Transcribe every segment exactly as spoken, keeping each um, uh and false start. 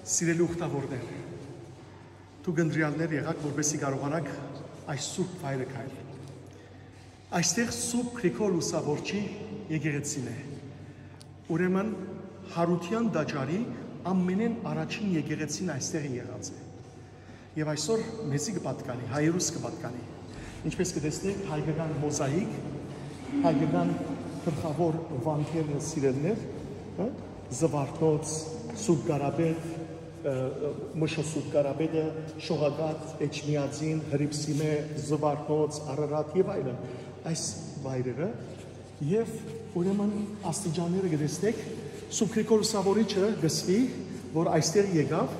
Սիրելի ուխտավորներ, դուք ընտրյալներ եղաք, որպեսզի կարողանաք այս սուրբ վայրը քայլել։ Այստեղ Սուրբ Գրիգոր Լուսավորչի եկեղեցին է։ Ուրեմն, Յարութեան տաճարի ամենէն առաջին եկեղեցին այստեղ եղած է։ Եւ այսօր մեզի կը պատկանի, հայերուս կը պատկանի։ Ինչպես կը տեսնենք, հայկական մոզաիկ, հայկական գլխաւոր վանքերն, սիրելիներ, հա, Զուարթնոց, Սուրբ Կարապետ, ը, Մշոյ Սուրբ Կարապետը, Շողակաթ, Էջմիածին, Հրիփսիմէ, Զուարթնոց, Արարատ եւ այլն։ Այս վայրերը, եւ ուրեմն աստիճանները կը տեսնեք, Սուրբ Գրիգոր Լուսավորիչը կը սպի, որ այստեղ եկաւ,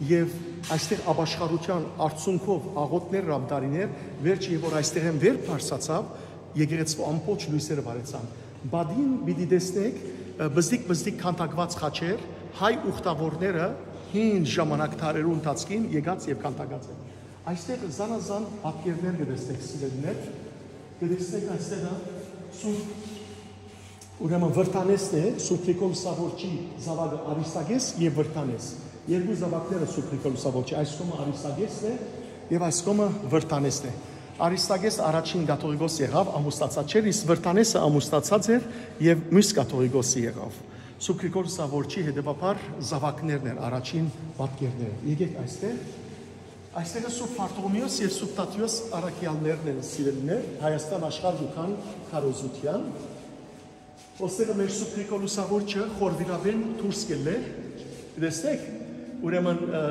եւ այստեղ ապաշխարութեան արդյունքով աղօթքներ ըրաւ, տարիներ, վերջը, եւ որ այստեղ են վեր բարձրացաւ, եկեղեցու ամբողջ լոյսերը վարեցան։ Բադին պիտի տեսնեք, ը, բզդիկ-բզդիկ քանդակուած խաչեր, հայ ուխտավորները հին ժամանակ, դարերու ընթացքին եկած եւ քանդակած են։ Այստեղ զանազան պատկերներ կը տեսնեք, սիրելիներ, կը տեսնեք այստեղ, ը, Սուրբ Ուրեմն Վրտանեսն է, Սուրբ Գրիգոր Լուսավորչի զաւակը Արիստագես եւ Վրտանես։ Երկու զաւակները Սուրբ Գրիգոր Լուսավորչի, այս կողմը Արիստագեսն է եւ այս կողմը Վրտանեսն է։ Արիստագես առաջին կաթողիկոս եղաւ, ամուսնացած չէր, իսկ Վրտանեսը ամուսնացած էր եւ միւս կաթողիկոսը եղաւ։ Սուրբ Գրիգոր Լուսավորչի հետեւաբար զաւակներն էր, առաջին պատկերները։ Եկեք այստեղ։ Այստեղ Սուրբ Բարթողոմեոս եւ Սուրբ Թադեոս առաքեալներն են, սիրելիներ, Հայաստան աշխարհ կու գան քարոզութեան։ Ոստեղը մեր Սուրբ Գրիգոր Լուսավորչը խորվիրապէն դուրս կ'ելլէ։ Տեսնեք, ուրեմն, ը,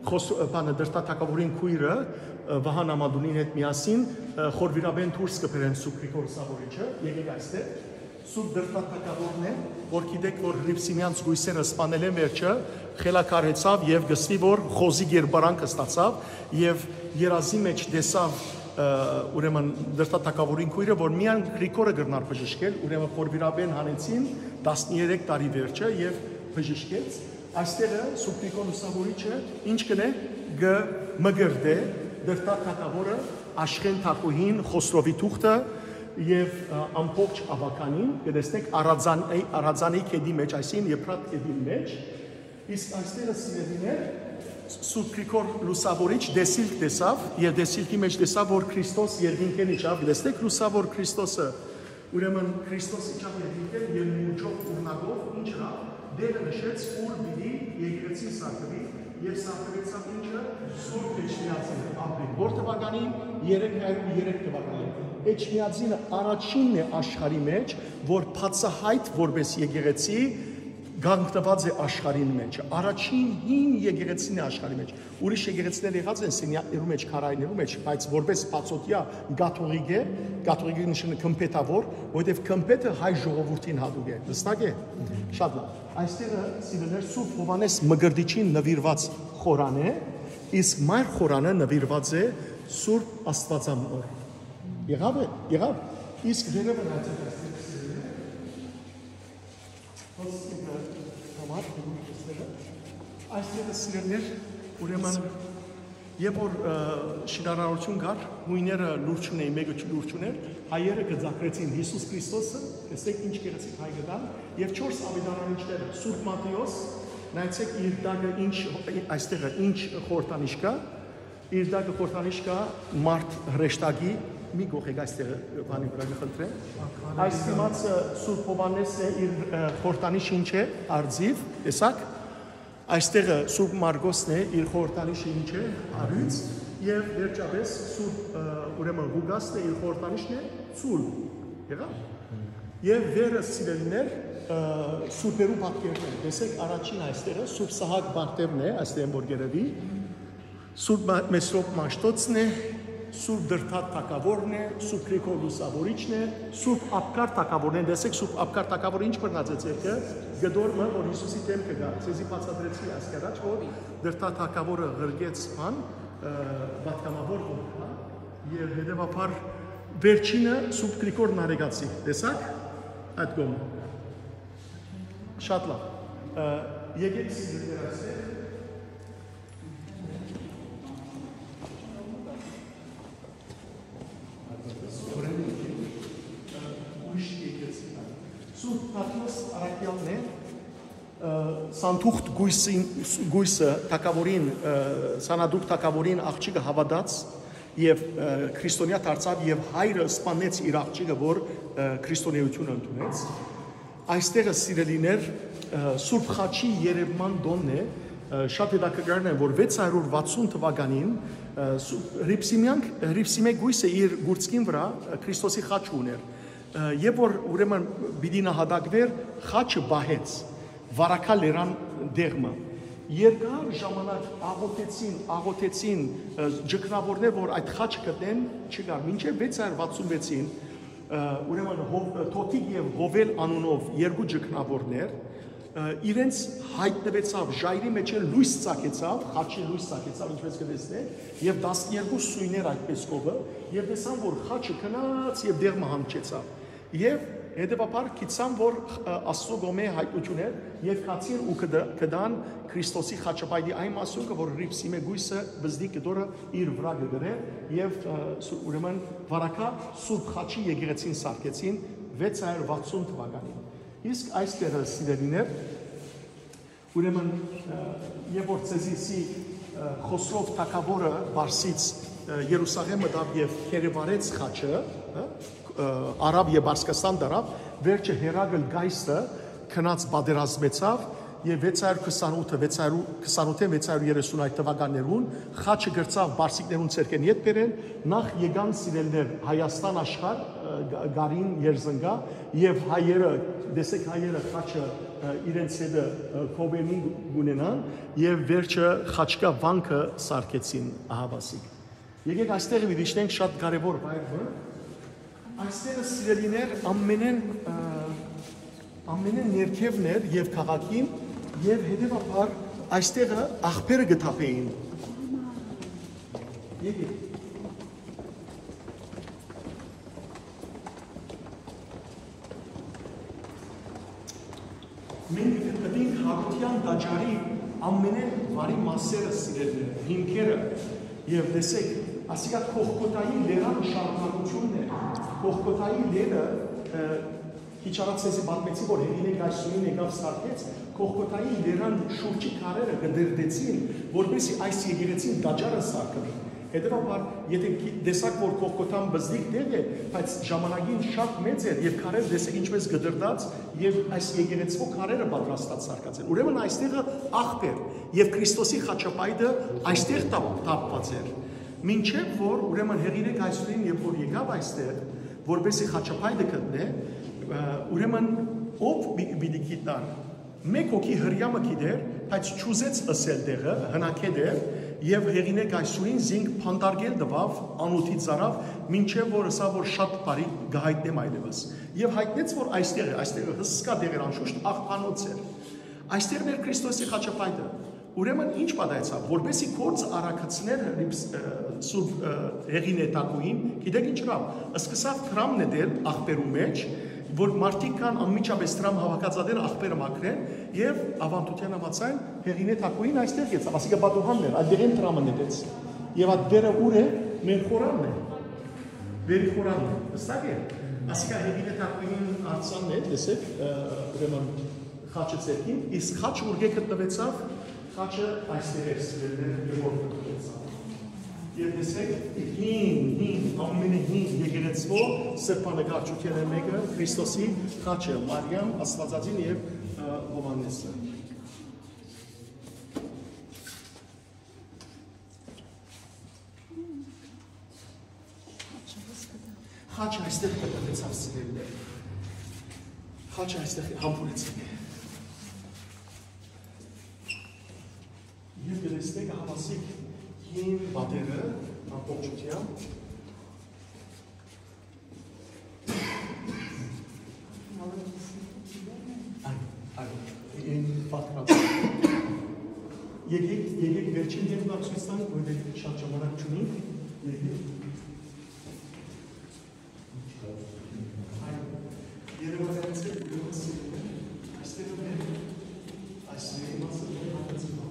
Խոս-, ը, բանը, Դրդա թագաւորին քոյրը, ը, Վահան Ամատունին հետ միասին, ը, խորվիրապէն դուրս կը բերեն Սուրբ Գրիգոր Լուսավորիչը, եկեք այստեղ։ Սուրբ Դրդա թագաւորն է, որ գիտեք, որ Հրիփսիմեան զգոյսերը սպանել են վերջը, խելագարհեցաւ եւ կը սպի, որ խոզի կերպարանք ստացաւ եւ երազի մէջ տեսաւ, ը, ուրեմն Դրդա թագաւորին քոյրը, որ միայն Գրիգորը կրնար բժշկել, ուրեմն խորվիրապէն հանեցին տասներեք տարի վերջը եւ բժշկեց։ Այստեղը Սուրբ Գրիգոր Լուսավորիչը ինչ կ'ընէ, կը մկրտէ Դրդա թագաւորը, Աշխէն թագուհին, Խոսրովի թուղթը եւ, ը, ամբողջ աւագանին, կը տեսնեք Արածան-, Արածանի գետի մէջ, այսինքն Եփրատ գետին մէջ, իսկ այստեղը, սիրելիներ, Սուրբ Գրիգոր Լուսավորիչ դեսիլք տեսաւ եւ դեսիլքի մէջ տեսաւ, որ Քրիստոս երկինքէն իջաւ, կը տեսնեք Լուսավոր Քրիստոսը, ուրեմն Քրիստոս իջաւ երկինքէն եւ մուրջով, ուրնակով, ինչ ըրաւ, դերը նշեց, ուր պիտի եկեղեցին սարքուի, եւ սարքուեցաւ ինչը, Սուրբ Էջմիածինը, ապրիլ որ թվականին, երեք հարիւր երեք թվականին։ Էջմիածինը առաջինն է աշխարհի մէջ, որ բացահայտ որպէս եկեղեցի կանգնուած է աշխարհին մէջ, առաջին հին եկեղեցին է աշխարհի մէջ։ Ուրիշ եկեղեցիներ եղած են սենյակներու մէջ, քարայրներու մէջ, բայց որպէս բացօթեայ կաթողիկ է, կաթողիկի նշանը գմբեթաւոր, որովհետեւ գմբեթը հայ ժողովուրդին յատուկ է։ Հստակ է։ Շատ լավ։ Այստեղը, սիրելիներ, Սուրբ Յովհաննէս Մկրտիչին նուիրուած խորան է, իսկ մայր խորանը նուիրուած է Սուրբ Աստուածամոր։ Եղա՞վ է, եղա՞վ։ Իսկ վերևը նայեցեք, այստեղ, սիրելիներ, Հոսքինը համար, այստեղը, սիրելիներ, ուրեմն, երբ որ, ը, շինարարություն կար, հույները լուր չունէին, մէկը չ-, լուր չունէր, հայերը գծագրեցին Յիսուս Քրիստոսը, տեսեք ինչ գեղեցիկ հայ կտան, եւ չորս աւետարանիչները, Սուրբ Մատթէոս, նայեցեք իր տակը ինչ, այստեղը ինչ խորհրդանիշ կայ, իր տակը խորհրդանիշ կայ մարդ հրեշտակի, մի կողեք այստեղը, բանի վրայ կը խնդրեմ։ Այս դիմացը Սուրբ Յովհաննէս է, իր, ը, խորհրդանիշ ինչ է, արծիվ, տեսակ։ Այստեղը Սուրբ Մարգոսն է, իր խորհրդանիշը ինչ է, արիւծ, եւ վերջապէս Սուրբ, ը, ուրեմն Ղուկասն է, իր խորհրդանիշն է, ծուլ։ Եղա՞վ։ Եւ վերը, սիրելիներ, ը, սուրբերու պատկերն է։ Տեսեք, առաջին այստեղը Սուրբ Սահակ Պարթեւն է, այստեղ որ գերեւի, Սուրբ Մա-, Մեսրոպ Մաշտոցն է, Սուրբ Դրդատ թագաւորն է, Սուրբ Գրիգոր Լուսավորիչն է, Սուրբ Աբգար թագաւորն է։ Տեսեք, Սուրբ Աբգար թագաւորը ինչ բռնած է ձեռքը, կտոր մը, որ Յիսուսի դէմքը կայ, ձեզի բացատրեցի այսկի առաջ, որ Դրդատ թագաւորը ղրկեց բան, ը, պատգամաւոր որ կայ, եւ հետեւաբար վերջինը Սուրբ Գրիգոր Նարեկացի, տեսակ, այդ կողմը։ Շատ լավ։ Ը, եկեք սիրելիներ այստեղ։ Սուրբ Թադեոս առաքյալն է, ը, Սանտուխտ գոյսին, գոյսը թագաւորին, ը, սանատուկ թագաւորին աղջիկը հաւատաց եւ, ը, քրիստոնեայ դարձաւ եւ հայրը սպանեց իր աղջիկը, որ, ը, քրիստոնէութիւնը ընդունեց։ Այստեղը, սիրելիներ, ը, Սուրբ Խաչի երեւման տոնն է, ը, շատ հետաքրքրական է, որ վեց հարյուր վաթսուն թուականին, ը, Սուրբ Հռիփսիմեան, Հռիփսիմէ գոյսը իր գուրցքին վրայ, ը, Քրիստոսի խաչը ունէր, ը, եւ որ ուրեմն պիտի նահատակվեր, խաչը պահեց Վարակա լերան դեղմը։ Երկար ժամանակ աղօթեցին, աղօթեցին, ը, ճգնաւորներ, որ այդ խաչը գտնեն, չկար։ Մինչեւ վեց հարյուր վաթսուն վեցին, ը, ուրեմն Հով-, Թոթիկ եւ Հովել անունով երկու ճգնաւորներ, ը, իրենց յայտնուեցաւ, ժայռի մէջ լոյս ծագեցաւ, խաչի լոյս ծագեցաւ, ինչպես կը տեսնէք, եւ տասներկու սոյներ այդպես կովը, եւ տեսան, որ խաչը գնաց եւ դեղմը հանգչեցաւ։ Եւ հետեւաբար գիտցան, որ, ը, Աստուծոյ կողմէ յայտնութիւն էր, եւ գացին ու կդ-, կդան Քրիստոսի խաչապայտի այն մասունքը, որ Հռիփսիմէ գոյսը բզդի կտորը իր վրայ կը գրէ, եւ, ը, սու-, ուրեմն Վարակա Սուրբ Խաչի եկեղեցին սարքեցին վեց հարյուր վաթսուն թուականին։ Իսկ այս տեղը, սիրելիներ, ուրեմն, ը, երբ որ ձեզի սի, ը, Խոսրով թագաւորը Պարսից, ը, Երուսաղէմ մտաւ եւ գերեվարեց խաչը, ը, ը, Արաբ եւ Պարսկաստան դարաւ, վերջը Հերակլ Կայսրը գնաց պատերազմեցաւ եւ վեց հարյուր քսանութ, վեց հարյուր քսանութ, վեց հարյուր երեսուն այդ թվականներուն խաչը կրցաւ պարսիկներուն ձեռքէն ետբերեն, նախ եկան սիրելներ Հայաստան աշխարհ, ը, գ-, գարին երզնկայ, եւ հայերը, տեսեք, հայերը խաչը, ը, իրենց հետը, ը, կովերնին կունենան, եւ վերջը Խաչկայ վանքը սարքեցին, ահավասիկ։ Եկեք այստեղ մի դիչնենք շատ կարևոր վայր մը։ Այստեղը, սիրելիներ, ամենեն, ը, ամենեն ներքևն էր եւ քաղաքին, եւ հետեւաբար այստեղը աղբերը կը թափեին։ Եկեք։ Մենք գտնենք Հարութեան տաճարի ամենէն վարի մասերը, սիրելիներ, հիմքերը, եւ տեսեք, ասիկա Կողքոթայի լերան շարունակութիւնն է։ Կողքոթայի լերը, ը, քիչ առաջ ձեզի պատմեցի, որ Հեղինե Կայսուրին եկաւ սարքեց, Կողքոթայի լերան շուրջի քարերը կը դերդեցին, որպեսզի այս եկեղեցին տաճարը սարքուի։ Հետեւաբար, եթե գի-, տեսաք, որ Կողքոթան բզդիկ տեղ է, բայց ժամանակին շատ մեծ էր, եւ քարերը տեսեք ինչպես կտրտած, եւ այս եկեղեցւոյ քարերը պատրաստած սարքած են։ Ուրեմն այստեղը աղբեր, եւ Քրիստոսի խաչապայտը այստեղ տապ-, տապված էր։ Մինչեւ որ, ուրեմն, Հեղինե Կայսուրին, երբ որ եկաւ այստեղ, որպեսզի խաչապայտը գտնէ, ը, ուրեմն ով պի-, պիտի գիտնար։ Մէկ հոգի Հրեամը գիտէր, բայց չուզեց ըսել տեղը, հնագէտ էր, եւ Հեղինե Կայսուրին զինք փանտարկել տուաւ անօթի ծարաւ, մինչեւ որ ըսաւ, որ շատ բարի կը յայտնեմ այլեւս։ Եւ յայտնեց, որ այստեղ է, այստեղ է, հսկայ տեղ էր, անշուշտ աղբանոց էր։ Այստեղ մեր Քրիստոսի խաչապայտը։ Ուրեմն ի՞նչ պատահեցաւ, որպեսզի գործ արագացներ Հռիփս-, ը, Սուրբ, ը, Հեղինե Թագուհին, գիտեք ինչ ըրաւ, սկսաւ դրամ նետել աղբերու մէջ, որ մարդիկ կան անմիջապես դրամ հավաքածատեր աղբերը մաքրեն, եւ ավանդութեան համաձայն Հեղինե Թագուհին այստեղ գեցաւ, ասիկա պատուհանն էր, այդտեղէն դրամը նետեց։ Եւ այդ վերը ուր է, մեր խորանն է, վերի խորանն է, հստակ է, ասիկա Հեղինե Թագուհին արձանն է, տեսեք, ը, ուրեմն խաչը ձեռքին, իսկ խաչը ուրկէ գտնուեցաւ, խաչը այստեղ էր, սիրելիներ, երբ որ գտնուեցաւ։ Եւ տեսեք, հին, հին, ամենահին եկեղեցւոյ սրբանկարչութիւնը մէկը, Քրիստոսի խաչը, Մարիամ, Աստուածածին եւ, ը, Յովհաննեսը։ Խաչը այստեղ կտրտուեցաւ, սիրելիներ։ Խաչը այստեղ համբուրեցին։ Եւ կտեսնէք ահավասիկ հին պատերը ամբողջութեամբ։ Այո, այո, այն պատկառ։ Եկեք, եկեք վերջին դերն ցոյց տանք, որովհետեւ շատ ժամանակ չունենք։ Եկեք։ Այո, երևակայեցեք, ուրեմն, սիրելիներ, այստեղ մեր, այս մեր իմաստը մեր հատածի բան։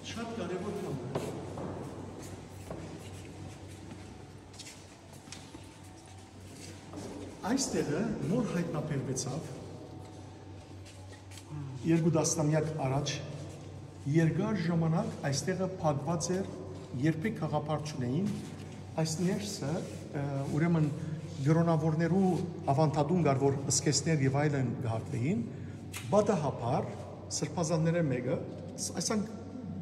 շատ կարեւոր բան է։ Այս տեղը նոր հայտնաբերվեցաւ երկու տասնամեակ առաջ, երկար ժամանակ այստեղը փակուած էր, երբեք գաղափար չունէին։ Այս ներսը, ը, ուրեմն կրոնաւորներու աւանդատուն կար, որ սկեզբներ եւ այլն կհարդուէին, պատահաբար սրբազաններէն մէկը, ս-, այսանք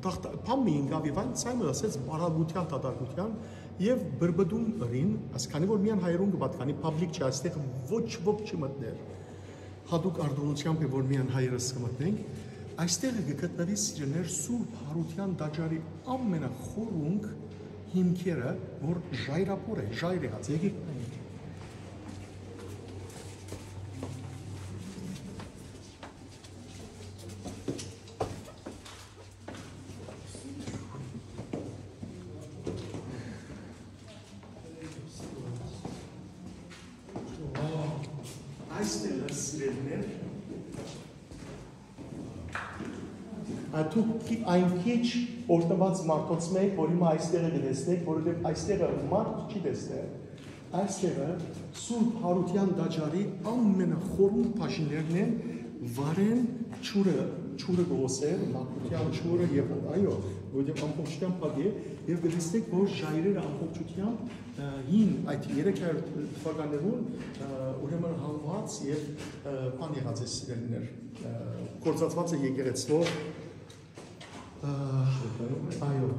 դախտ-, բան մի ինկաւ եւ այն ցայմը ասեց բարակության, դատարկության եւ բրբդում ըրին, այսքանի որ միայն հայերուն կը պատկանի, public չէ, այստեղ ոչ ոք չի մտներ, հատուկ արտոնությամբ է, որ միայն հայերս կը մտնենք, այստեղ կը գտնուի, սիրելիներ, Սուրբ Յարութեան տաճարի ամենախորունկ հիմքերը, որ ժայռափոր է, ժայռ եղած, եկեք նայենք։ Այստեղ, սիրելիներ, ա, դուք քի-, այն քիչ օրհնուած մարդոց մէկ, որ հիմա այստեղը կը տեսնեք, որովհետեւ այստեղը մարդ չի տեսներ, այստեղը Սուրբ Յարութեան տաճարի ամենախորուն բաժիններն են, վարեն ջուրը, ջուրը կ'օսեր, մաքրութեան ջուրը եւ, այո, որովհետեւ ամբողջությամբ փակ է, եւ կը տեսնեք, որ ժայռերը ամբողջությամբ, ը, հին, այդ երեք հարիւր թվականներուն, ը, ուրեմն հանուած եւ, ը, բան եղած է, սիրելիներ, ը, գործածուած է եկեղեցւոյ, ը, այո։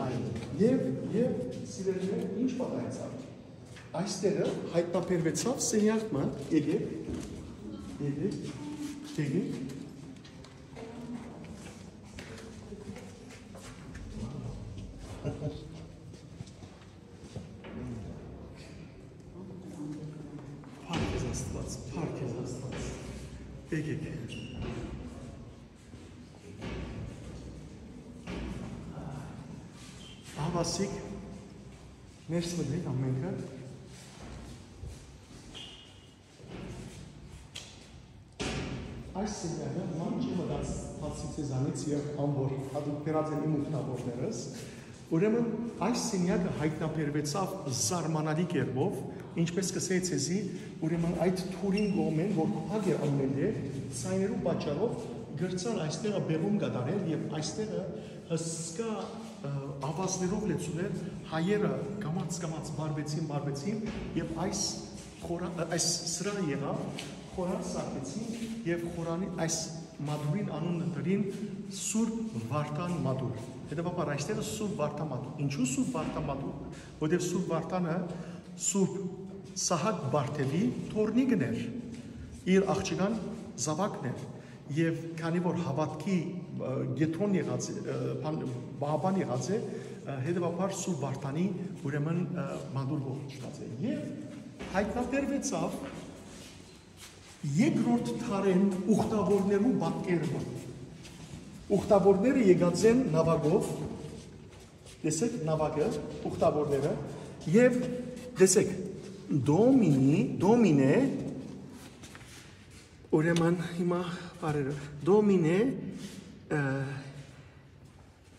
Այո։ Եւ, եւ, սիրելիներ, ինչ պատահեցաւ։ Այստեղը հայտնաբերվեցաւ սենեակ մը, եկեք, եկեք, եկեք։ Փառք քեզ Աստուած, փառք քեզ Աստուած։ Եկեք։ Ահավասիկ, ներս մտեք ամենքը։ Այս սենյակը ման չի մտած, բացի ձեզանից եւ ան որ հատուկ բերած են իմ ուխտավորներս, ուրեմն այս սենյակը հայտնաբերվեցաւ զարմանալի կերպով, ինչպես կ'ըսէի ձեզի, ուրեմն այդ թուրին կողմէն, որ փակ էր ամէնտեղ, ցայներու պատճառով կրցան այստեղը բեղում կատարել եւ այստեղը հսկայ, ը, ավազներով լեցուն էր, հայերը կամաց-կամաց վարվեցին, վարվեցին եւ այս խորա-, ը, այս սրահը եղաւ, խորան սարքեցին եւ խորանի այս մատուռին անունը տրին Սուրբ Վարդան մատուռ։ Հետեւաբար այստեղը Սուրբ Վարդան մատուռ։ Ինչու Սուրբ Վարդան մատուռ։ Որտեւ Սուրբ Վարդանը Սուրբ Սահակ Բարթեւի թոռնիկն էր, իր աղջկան զաւակն էր, եւ քանի որ հաւատքի, ը, կեդրոն եղած է, ը, բան, պահապան եղած է, ը, հետեւաբար Սուրբ Վարդանի, ուրեմն, ը, մատուռ կոչուած է։ Եւ հայտնաբերվեցաւ երկրորդ դարին ուխտավորներու պատկերումը։ Ուխտավորները եկած են նաւակով, տեսեք, նաւակը, ուխտավորները, եւ տեսեք, Դոմինի, Դոմինե, ուրեմն հիմա բարերը, Դոմինե, ը,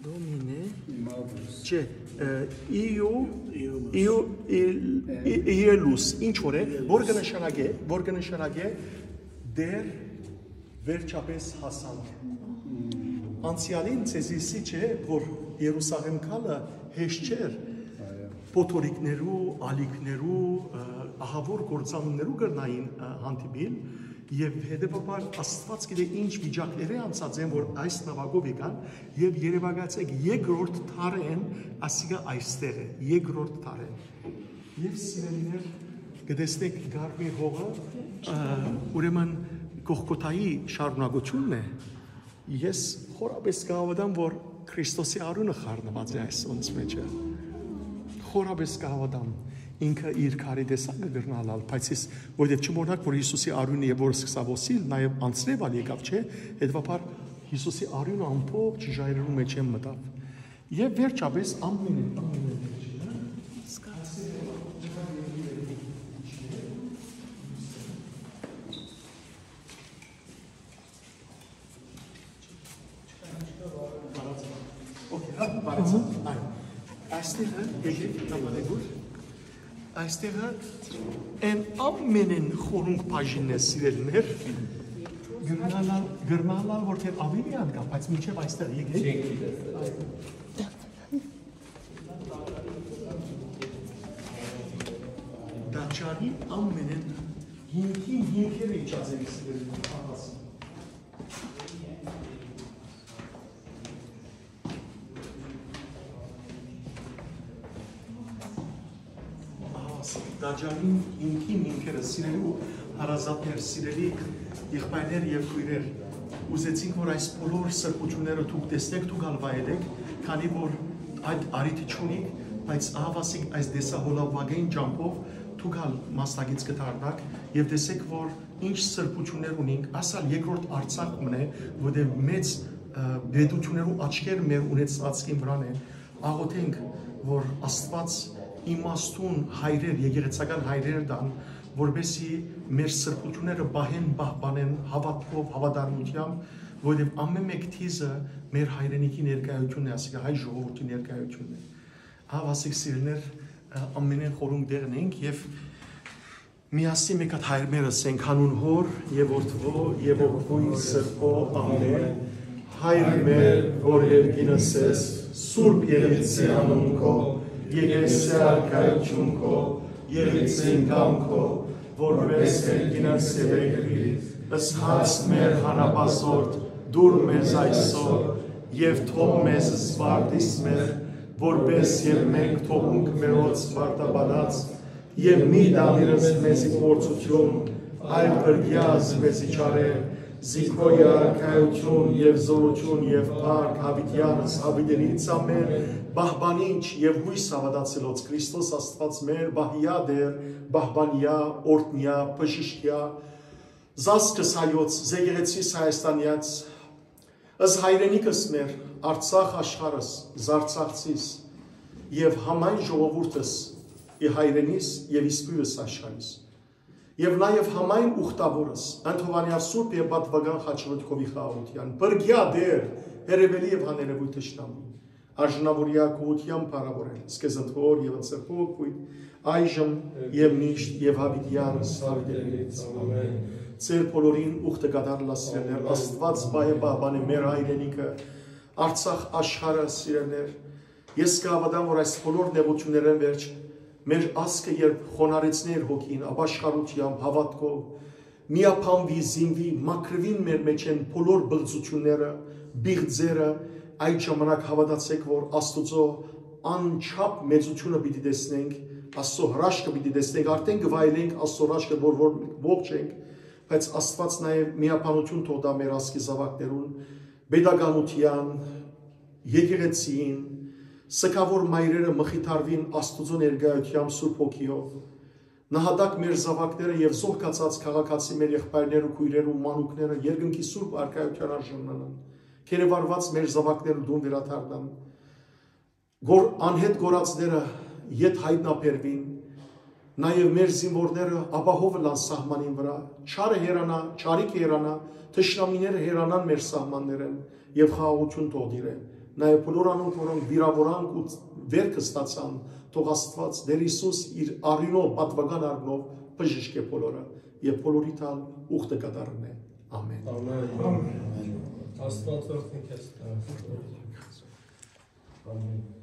Դոմինե, Իմալուս։ Չէ, ը, Իու, Իու, Իու, Իլ-, Ի-, Իելուս, ինչ որ է, որ կը նշանակէ, որ կը նշանակէ դեռ վերջապէս հասանք։ Անցեալին ձեզի սի չէ, որ Երուսաղէմ գալը հեշտ չէր, այո, փոթորիկներու, ալիքներու, ը, ահաւոր կործանումներու կրնային, ը, հանդիպիլ, Եւ հետեւաբար Աստուած գիտէ ինչ վիճակներէ անցած են, որ այս նաւակով եկան, եւ երեւակայեցաք երկրորդ դարէն, ասիկա այստեղ է, երկրորդ դարէն։ Եւ սիրելիներ, կտեսնեք Կարմիր հողը, ը, ուրեմն Կողքոթայի շարունակությունն է։ Ես խորապէս կհաւատամ, որ Քրիստոսի արիւնը խառնուած է այս անոնց մէջը։ Խորապէս կհաւատամ, ինքը իր քարի տեսակը կրնալալ, բայց ես, որովհետեւ չմոռնաք, որ Յիսուսի արիւնը եւ որ սկսաւ օսիլ, նաեւ անցնեւ ալ եկաւ, չէ՞, հետեւաբար Յիսուսի արիւնը ամբողջ ժայռերու մէջէն մտաւ։ Եւ վերջապէս ամենէն, ամենէն վերջինը, Okay, հա, բարեցան, այո։ Այստեղը, եկեք, կամարեգուր։ Այստեղը այն ամենէն խորունկ բաժինն է, սիրելիներ։ Գրնալալ, գրնալալ, որ թէ ավելի ան կա, բայց մինչեւ այստեղ եկեք։ Տաճարի ամենէն հիմքին հիմքերը իջած են, սիրելիներ, ահա սա։ Տաճարին հիմքին հիմքերը, սիրելի ու հարազատներ, սիրելի եղբայրներ եւ քոյրեր, ուզեցինք, որ այս բոլոր սրբությունները դուք տեսնեք, դուք ալ վայելեք, քանի որ այդ առիթը չունիք, բայց ահա ասիկ այս տեսահոլովակային ճամբով դուք ալ մասնակից կդառնաք եւ տեսեք, որ ինչ սրբություններ ունինք, ասալ երկրորդ Արցախ մնե, որտեղ մեծ, ը, պետություններու աչքեր մեր ունեցածին վրան են, աղոթենք, որ Աստուած իմաստուն հայրեր, եկեղեցական հայրեր տան, որպեսզի մեր սրբությունները պահեն, պահպանեն հավատքով, հավատարմությամբ, որովհետև ամեն մէկ դիզը մեր հայրենիքի ներկայությունն է, ասիկա հայ ժողովրդի ներկայությունն է։ Ահա, ասիկ սիրելիներ, ը, ամենէն խորունկ տեղն ենք եւ միասին մէկ հատ Հայր մեր ըսենք, անուն Հօր եւ Որդւոյ եւ Հոգւոյ Սրբոյ, ամէն։ Հայր մեր, որ երկինս ես, սուրբ եղեցի անուն քո, եկեղեցի արքայություն քո, եղեցին կամքո, որպես երկինս եւ երկրի, ըսած մեր հանապազորդ, դուր մեզ այսօր, եւ թող մեզ զվարդիս մեր, որպես եւ մենք թողունք մերոց զվարդաբանած, եւ մի տանիրս մեզի փորձություն, այլ փրկեաս մեզի չարեր, զի քո արքայություն եւ զորություն եւ փառք, յաւիտեանս յաւիտենից ամէն, պահպանիչ եւ յոյս հաւատացելոց Քրիստոս Աստուած մեր, պահեա Տէր, պահպանեա, օրհնեա, բժշկեա, զազգս հայոց, զեկեղեցիս Հայաստանեաց, ըս հայրենիքս մեր, Արցախ աշխարհս, զարցախցիս, եւ համայն ժողովուրդս, ի հայրենիս եւ իսկոյս աշխարհիս, եւ նաեւ համայն ուխտավորս, ընթովանեալ սուրբ եւ պատվական խաչմտքովի խաղաղութեան, բրգեա Տէր, հերևելի եւ հաներևոյ թշնամի, արժանավորեա գողութեան փառաւորել, սկեզբնոր եւ ընթրբոյ, այժմ եւ միշտ եւ յաւիտեանս յաւիտենից։ Ամէն։ Ձեր բոլորին ուխտը կատարելա, սիրելիներ, Աստուած պահե պահպանե մեր հայրենիքը, Արցախ աշխարհը, սիրելիներ։ Ես կհաւատամ, որ այս բոլոր նեղութիւններէն վերջ մեր ազգը երբ խոնարհեցնէ իր հոգին, ապաշխարութեամբ, հաւատքով, միաբանուի, զինուի, մաքրուին մեր մէջէն բոլոր բղծութիւնները, բիղձերը, այդ ժամանակ հաւատացէք, որ Աստուծոյ անչափ մեծութիւնը պիտի տեսնենք, Աստուծոյ հրաշքը պիտի տեսնենք, արդէն կը վայելենք Աստուծոյ հրաշքը, որ, որ ողջ ենք, բայց Աստուած նաեւ միաբանութիւն թող տայ մեր ազգի զաւակներուն, պետականութեան, եկեղեցին, սգաւոր մայրերը մխիթարուին Աստուծոյ ներկայութեամբ Սուրբ Հոգիով, նահատակ մեր զաւակները եւ զոհկացած քաղաքացի մեր եղբայրներ ու քոյրեր ու մանուկները երկնքի սուրբ արքայութեան արժանանան, գերեվարուած մեր զաւակները տուն վերադառնան, որ անհետ կորածները ետ հայտնաբերուին, նաեւ մեր զինուորները ապահով ըլլան սահմանին վրայ, չարը հեռանայ, չարիքը հեռանայ, թշնամիները հեռանան մեր սահմաններէն եւ խաղաղութիւն թող տիրէ։ Նաեւ բոլոր անոնք, որոնք վիրաւորանք ու վեր կստացան, թող Աստուած, Տէր Յիսուս իր արիւնով, պատուական արիւնով բժշկէ բոլորը եւ բոլորիդ ալ ուխտը կատարնէ։ Ամէն։ Ամէն։ Աստուած օրհնի քեզ։ Ամէն։